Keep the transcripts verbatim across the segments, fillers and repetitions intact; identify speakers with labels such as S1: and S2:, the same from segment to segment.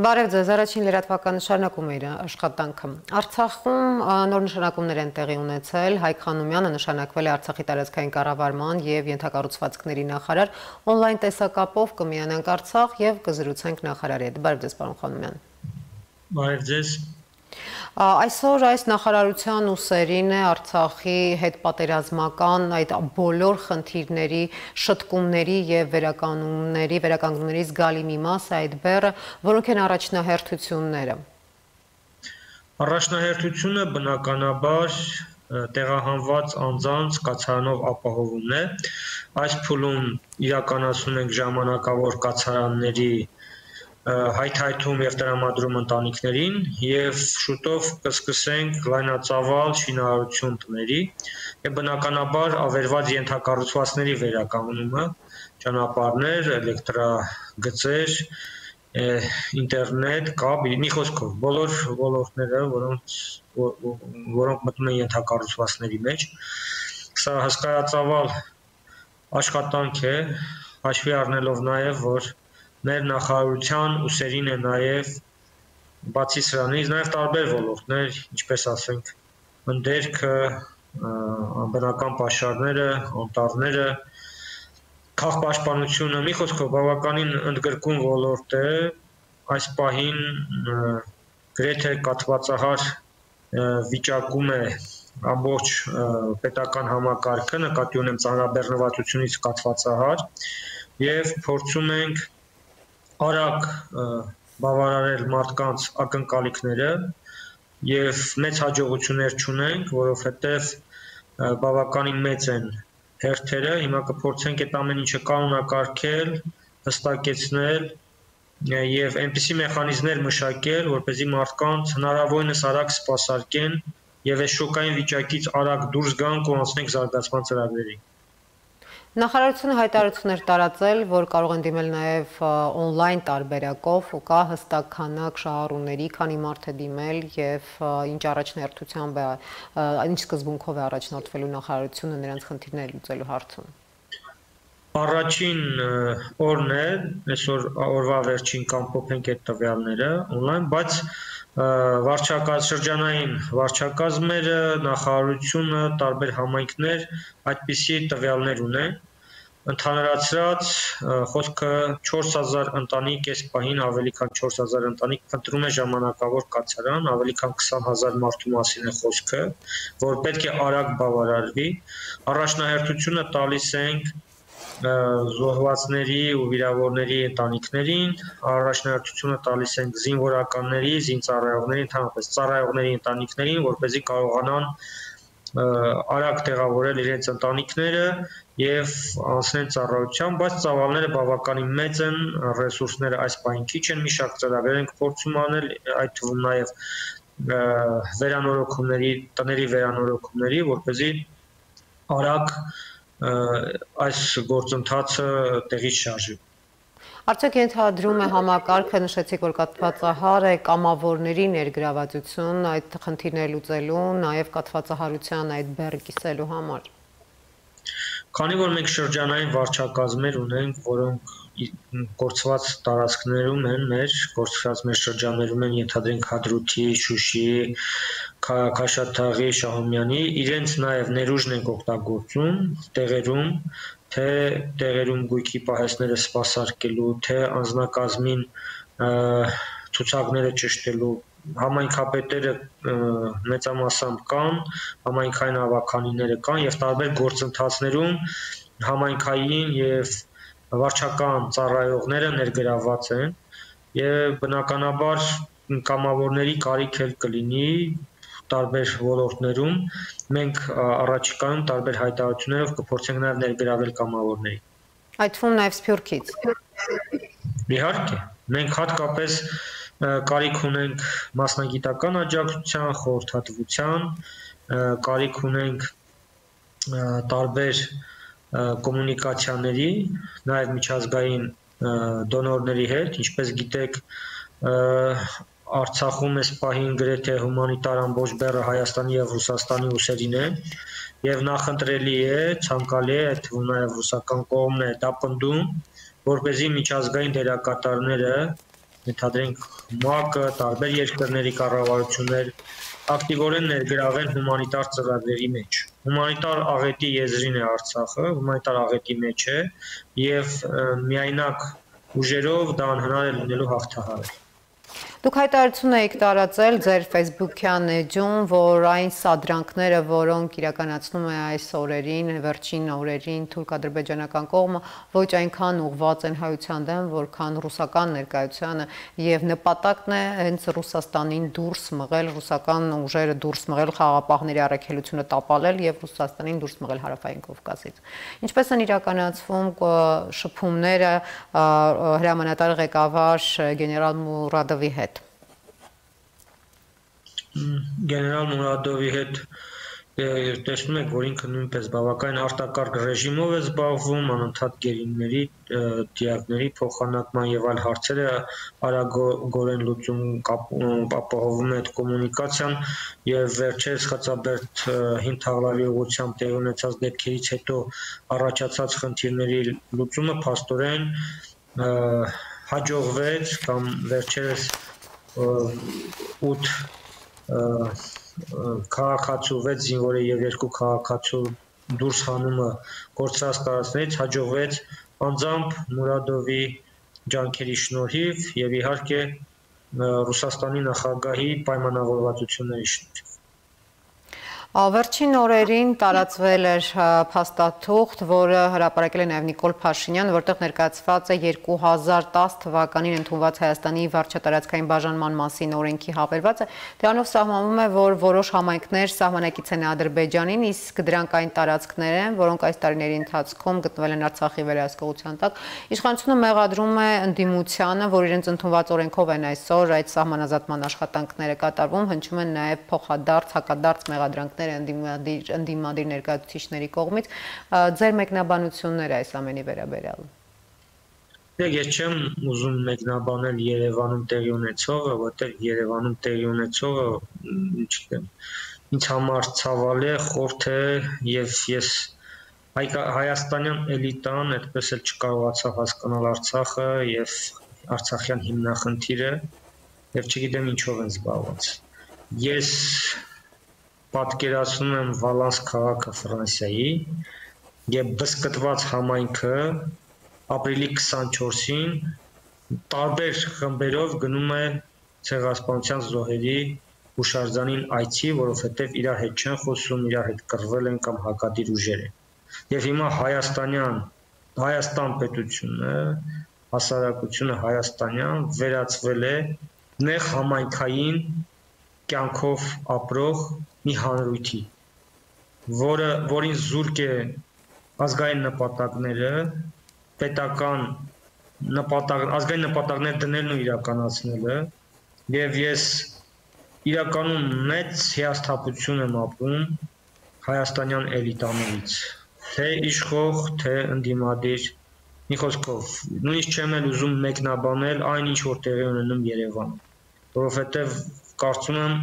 S1: Բարև ձեզ, առաջին լրատվական նշանակում է իր աշխատանքը։ Արցախում նոր նշանակումներ են տեղի ունեցել, Հայկ Խանոմյանը նշանակվել է Արցախի տարածքային կառավարման և ենթակառուցվածքների նախարար, օնլայն տեսակապով կմիանանք Արցախ և կզրուցենք նախարարի հետ։ Բարև ձեզ, պարոն Խանոմյան։
S2: Բարև ձեզ։
S1: Այսօր այս նախարարության ուսերին է Արցախի հետ պատերազմական այդ բոլոր խնդիրների, շտկումների և վերականգնումների, վերականգնումների զգալի մի մաս է այդ բեռը, որոնք են առաջնահերթությունները։
S2: Առաջնահերթությունը բնականաբար տեղահանված անձանց կացարանով ապահովումն է։ Այս փուլում իրականացնում ենք ժամանակավոր կացարանների հայթայթում և տրամադրում ընտանիքներին և շուտով կսկսենք լայնածավալ շինարարություն տների և բնականաբար ավերված ենթակառուցվածքների վերականգնումը, ճանապարհներ, էլեկտրագծեր, ինտերնետ, կապ, մի խոսքով, բոլոր ոլորտները, որոնց որոնք մտնում են ենթակառուցվածքների մեջ։ Սա հսկայածավալ աշխատանք է, հաշվի առնելով նաև, որ մեր նախարարության ուսերին է նաև բացի սրանից նաև տարբեր ոլորտներ, ինչպես ասենք, ընդերքը, բնական պաշարները, անտառները, քաղաքապաշտպանությունը, մի խոսքով բավականին ընդգրկուն ոլորտ է, այս պահին գրեթե կաթվածահար վիճակում է ամբողջ պետական համակարգը, նկատի ունեմ ծանրաբեռնվածությունից կաթվածահար, և փորձում ենք արագ բավարարել մարդկանց ակնկալիքները և մեծ հաջողություններ չունենք, որովհետև բավականին մեծ են հերթերը, հիմա կփորձենք այդ ամեն ինչը կանոնակարգել, հստակեցնել և այնպիսի մեխանիզմներ մշակել, որպեսզի մարդկանց հնարավորինս արագ սպասարկեն և այս շոկային վիճակից արագ դուրս գանք ու անցնենք զարգացման ծրագրերի։
S1: Նախարարությունը հայտարարություն էր տարածել, որ կարող են դիմել նաև օնլայն տարբերակով, կա հստակ քանակ շահառուների, քանի մարդ է դիմել և ինչ առաջնահերթությամբ է, ինչ սկզբունքով է առաջնորդվելու նախարարությունը նրանց խնդիրները լուծելու հարցում։
S2: Առաջին օրն է, այսօր օրվա վերջին կամփոփենք այդ տվյալները օնլայն, բայց վարչակազ շրջանային վարչակազմերը, նախարարությունը, տարբեր համայնքներ այդպիսի տվյալներ ունեն։ Ընդհանրացրած խոսքը չորս հազար ընտանիք այս պահին ավելի քան չորս հազար ընտանիք փնտրում է ժամանակավոր կացարան, ավելի քան քսան հազար մարդու մասին է խոսքը, որ պետք է արագ բավարարվի։ Առաջնահերթությունը տալիս ենք զոհվածների ու վիրավորների ընտանիքներին, առաջնահերթությունը տալիս ենք զինվորականների, զինծառայողների, ընդհանրապես ծառայողների ընտանիքներին, որպեսզի կարողանան արագ տեղավորել իրենց ընտանիքները և անցնեն ծառայության, բայց ծավալները բավականին մեծ են, ռեսուրսները այս պահին քիչ են, մի շարք ծրագրեր ենք փորձում անել, այդ թվում նաև վերանորոգումների, տների վերանորոգումների, որպեսզի արագ այս գործընթացը տեղից շարժի։
S1: Արդյոք ենթադրում է համակարգը, նշեցիք, որ կաթվածահար է կամավորների ներգրավվածություն այդ խնդիրները լուծելու, նաև կաթվածահարության այդ բեռը կիսելու համար։
S2: Քանի որ մենք շրջանային վարչակազմեր ունենք, որոնք կորցված տարածքներում են մեր, կորցված մեր շրջաններում են, ենթադրենք Հադրութի, Շուշիի, Քաշաթաղի, Շահումյանի, իրենց նաև ներուժն ենք օգտագործում տեղերում, թե տեղերում գույքի պահեստները սպասարկելու, թե անձնակազմին ցուցակները ճշտելու, համայնքապետերը մեծամասամբ կան, համայնքային ավականիները կան և տարբեր գործընթացներում համայնքային և վարչական ծառայողները ներգրավված են և բնականաբար կամավորների կարիք էլ կլինի տարբեր ոլորտներում, մենք առաջիկայում տարբեր հայտարարություններով կփորձենք նաև ներգրավել կամավորներին։
S1: Այդ թվում նաև Սփյուռքից։
S2: Իհարկե, մենք հատկապես կարիք ունենք մասնագիտական աջակցության, խորհրդատվության, կարիք ունենք տարբեր կոմունիկացիաների, նաև միջազգային դոնորների հետ, ինչպես գիտեք, Արցախում այս պահին գրեթե հումանիտար ամբողջ բեռը Հայաստանի և Ռուսաստանի ուսերին է, և նախընտրելի է, ցանկալի է, այդ թվում նաև ռուսական կողմն է դա պնդում, որպեսզի միջազգային դերակատարները ենթադրենք ՄԱԿ-ը, տարբեր երկրների կառավարություններ ակտիվորեն ներգրավել հումանիտար ծրագրերի մեջ։ Հումանիտար աղետի եզրին է Արցախը, հումանիտար աղետի մեջ է եւ միայնակ ուժերով դա անհնար է լինելու հաղթահարել։
S1: Դուք հայտարարություն եք տարածել ձեր Facebook-յան էջում, որ այն սադրանքները, որոնք իրականացնում է այս օրերին, վերջին օրերին թուրք-ադրբեջանական կողմը, ոչ այնքան ուղղված են հայության դեմ, որքան ռուսական ներկայությանը, եւ նպատակն է հենց Ռուսաստանին դուրս մղել, ռուսական ուժերը դուրս մղել, խաղաղապահների առաքելությունը տապալել եւ Ռուսաստանին դուրս մղել Հարավային Կովկասից։ Ինչպես են իրականացվում շփումները հրամանատար ղեկավար գեներալ Մուրադովի հետ։
S2: Գեներալ Մուրադովի հետ տեսնում եք, որ ինքը նույնպես բավականին արտակարգ ռեժիմով է զբաղվում, անընդհատ գերիների, դիակների փոխանակման եւ այլ հարցերը արագորեն լուծում ապահովում է այդ կոմունիկացիան եւ վերջերս Խաչաբերդ հին թաղլավի ուղղությամբ տեղի ունեցած դեպքերից հետո առաջացած խնդիրների լուծումը փաստորեն հաջողվեց կամ վերջերս ութ քաղաքացու վեց զինվորի եւ երկու քաղաքացու դուրս հանումը կորցրած տարածքներից հաջողվեց անձամբ Մուրադովի ջանքերի շնորհիվ եւ իհարկե Ռուսաստանի նախագահի պայմանավորվածությունների շնորհիվ։
S1: Վերջին օրերին տարածվել էր փաստաթուղթ, որը հրապարակել է նաև Նիկոլ Փաշինյանը, որտեղ ներկայացված է երկու հազար տասը թվականին ընդունված Հայաստանի վարչատարածքային բաժանման մասին օրենքի հավելվածը։ Դրանով սահմանվում է, որ որոշ համայնքներ սահմանակից են Ադրբեջանին, իսկ դրանք այն տարածքներ են, որոնք այս տարիների ընթացքում գտնվել են Արցախի վերահսկողության տակ։ Իշխանությունը մեղադրում է ընդդիմությանը, որ իրենց ընդունված օրենքով են այսօր այդ սահմանազատման աշխատանքները կատարվում, հնչում են նաև փոխադարձ, հակադարձ մեղադրանքներ Ընդդիմադիր, ընդդիմադիր ներկայացուցիչների կողմից ձեր մեկնաբանությունները այս ամենի վերաբերյալ։
S2: Ես չեմ ուզում մեկնաբանել Երևանում տեղի ունեցողը, որտեղ Երևանում տեղի ունեցողը, չգիտեմ, ինձ համար ցավալի է, խորթ է եւ ես հայաստանյան էլիտան այդպես էլ չկարողացա հասկանալ Արցախը եւ Արցախյան հիմնախնդիրը եւ չգիտեմ ինչով են զբաղված։ Ես պատկերացնում եմ Վալանս քաղաքը Ֆրանսիայի եւ բսկտված համայնքը ապրիլի քսանչորսին տարբեր խմբերով գնում է ցեղասպանության զոհերի հուշարձանին այցի, որովհետեւ իր հետ չեն խոսում, իր հետ կռվել են կամ հակադիր ուժեր են։ Եվ հիմա հայաստանյան Հայաստան պետությունը, հասարակությունը հայաստանյան վերածվել է նեղ համայնքային կյանքով ապրող մի հանրույթի, որը որին զուրկ է ազգային նպատակները, պետական նպատակ, ազգային նպատակներ դնելն ու իրականացնելը, եւ ես իրականում մեծ հիասթափություն եմ ապրում հայաստանյան էլիտաներից, թե իշխող, թե ընդդիմադիր, մի խոսքով, նույնիսկ չեմ էլ ուզում մեկնաբանել այն ինչ որ տեղի ունենում Երևանում, որովհետեւ կարծում եմ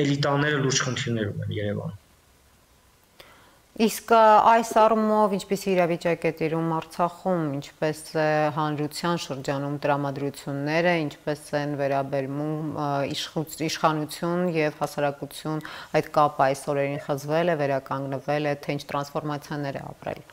S2: էլիտաները լուրջ խնդիրներ ունեն Երևանում։
S1: Իսկ այս առումով ինչպես իրավիճակ է տիրում Արցախում, ինչպես է հանրության շրջանում տրամադրությունները, ինչպես են վերաբերվում իշխանություն եւ հասարակություն այդ կապը այս օրերին խզվել է, վերականգնվել է, թե ինչ տրանսֆորմացիաներ է ապրել։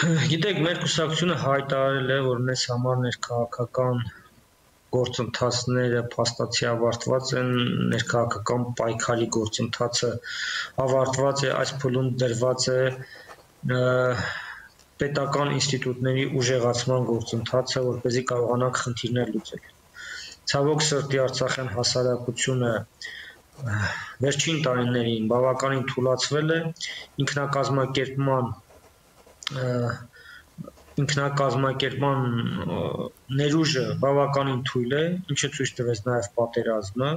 S2: Գիտեք, մեր կուսակցությունը հայտարարել է, որ մեզ համար ներքաղաքական գործընթացները փաստացի ավարտված են, ներքաղաքական պայքարի գործընթացը ավարտված է, այս փուլում դրված է պետական ինստիտուտների ուժեղացման գործընթացը, որպեսզի կարողանանք խնդիրներ լուծել։ Ցավոք սրտի Արցախյան հասարակությունը վերջին տարիներին բավականին թուլացվել է, ինքնակազմակերպման ինքնակազմակերպման ներուժը բավականին թույլ է, ինչը ցույց տվեց նաև պատերազմը,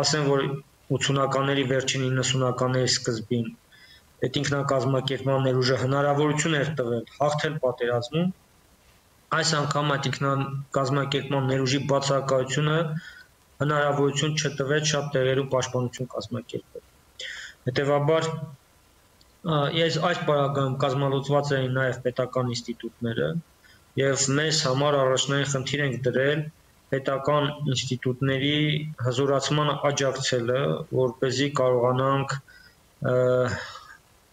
S2: ասեմ, որ ութսունականների վերջին իննսունականների սկզբին այդ ինքնակազմակերպման ներուժը հնարավորություն էր տվել հաղթել պատերազմում, այս անգամ այդ ինքնակազմակերպման ներուժի բացակայությունը հնարավորություն չտվեց շատ տեղերում պաշտպանություն կազմակերպել։ Հետևաբար Ես այս պարագայում կազմալուծված էին նաև պետական ինստիտուտները եւ մեզ համար առաջնային խնդիր ենք դրել պետական ինստիտուտների հզորացմանը աջակցելը, որպեսզի կարողանանք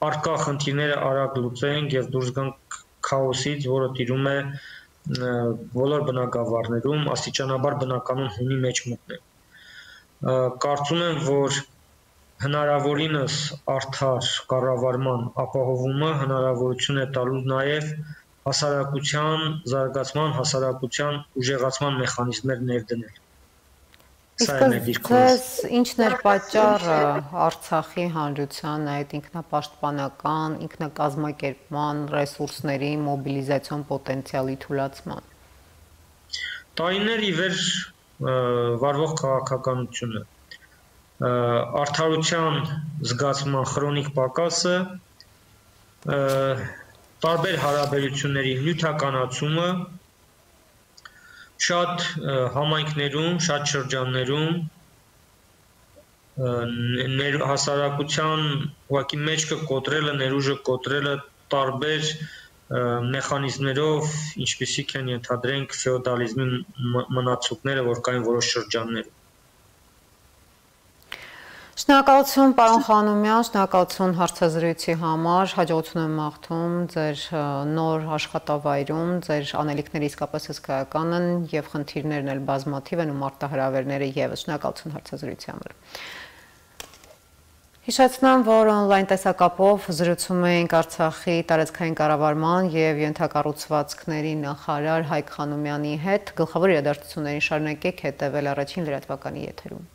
S2: արկա խնդիրները արագ լուծենք եւ դուրս գանք քաոսից, որը տիրում է բոլոր բնակավարներում, աստիճանաբար բնականon հունի մեջ մտնել։ Կարծում եմ, որ հնարավորինս արդար կառավարման ապահովումը հնարավորություն է տալու նաեւ հասարակության զարգացման, հասարակության ուժեղացման մեխանիզմներ ներդնել։
S1: Իսկ ձեզ ինչն էր պատճառը Արցախի հանրության այդ ինքնապաշտպանական, ինքնակազմակերպման ռեսուրսների մոբիլիզացիոն պոտենցիալի թուլացման։
S2: Տարիներ ի վեր վարվող քաղաքականությունը, արդարության զգացման քրոնիկ պակասը, տարբեր հարաբերությունների նյութականացումը, շատ համայնքներում, շատ շրջաններում հասարակության ուղղակի մեջքը կոտրելը, ներուժը կոտրելը տարբեր մեխանիզմներով, ինչպիսիք են ենթադրենք ֆեոդալիզմի մնացուկները, որ կային որոշ շրջաններում։
S1: Շնորհակալություն պարոն Խանոմյան, շնորհակալություն հարցազրույցի համար, հաջողություն եմ մաղթում ձեր նոր աշխատավայրում, ձեր անելիքները իսկապես հսկայական են եւ խնդիրներն էլ բազմաթիվ են ու մարտահրավերները եւս։ Շնորհակալություն հարցազրույցի համար։ Հիշեցնեմ, որ on-line տեսակապով զրուցում էինք Արցախի տարածքային կառավարման եւ ենթակառուցվածքների նախարար Հայկ Խանոմյանի հետ։ Գլխավոր իրադարձություններին շարունակեք հետեւել առաջին լրատվականի եթերում։